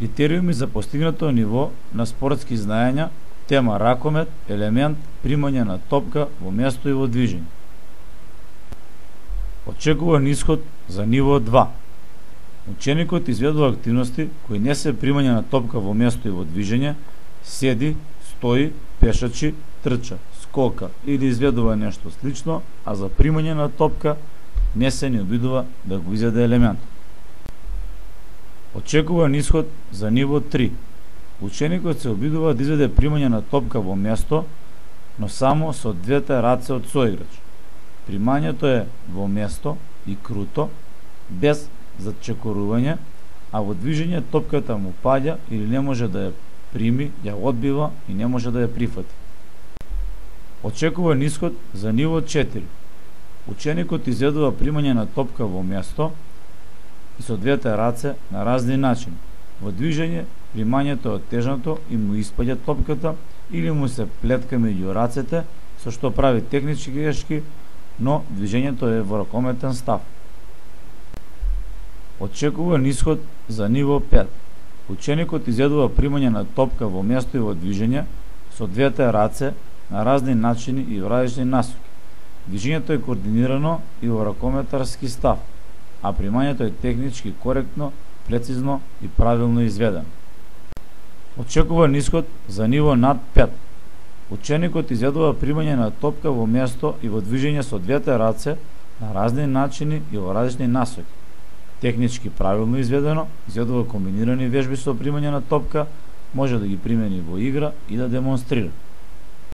Критериуми за постигнато ниво на спортски знаења, тема ракомет, елемент, примање на топка во место и во движење. Очекуван исход за ниво 2. Ученикот изведува активности кои не се примање на топка во место и во движење, седи, стои, пешачи, трча, скока или изведува нешто слично, а за примање на топка не се ни обидува да го изведе елемент. Очекуван исход за ниво 3. Ученикот се обидува да изведе примање на топка во место, но само со двете раце од соиграч. Примањето е во место и круто, без зачекорување, а во движење топката му паѓа или не може да ја прими, ја одбива и не може да ја прифати. Очекуван исход за ниво 4. Ученикот изведува примање на топка во место и со двете раце на разни начини. Во движење примањето е оттежнато и му испаѓа топката или му се плетка меѓу рацете, со што прави технички грешки, но движењето е во ракометен став. Очекуван исход за ниво 5. Ученикот изведува примање на топка во место и во движење со двете раце на разни начини и во различни насоки. Движењето е координирано и во ракометарски став, а примањето е технички коректно, прецизно и правилно изведено. Очекуван исход за ниво над 5. Ученикот изведува примање на топка во место и во движење со двете раце на разни начини и во различни насоки. Технички правилно изведено, изведува комбинирани вежби со примање на топка, може да ги примени во игра и да демонстрира.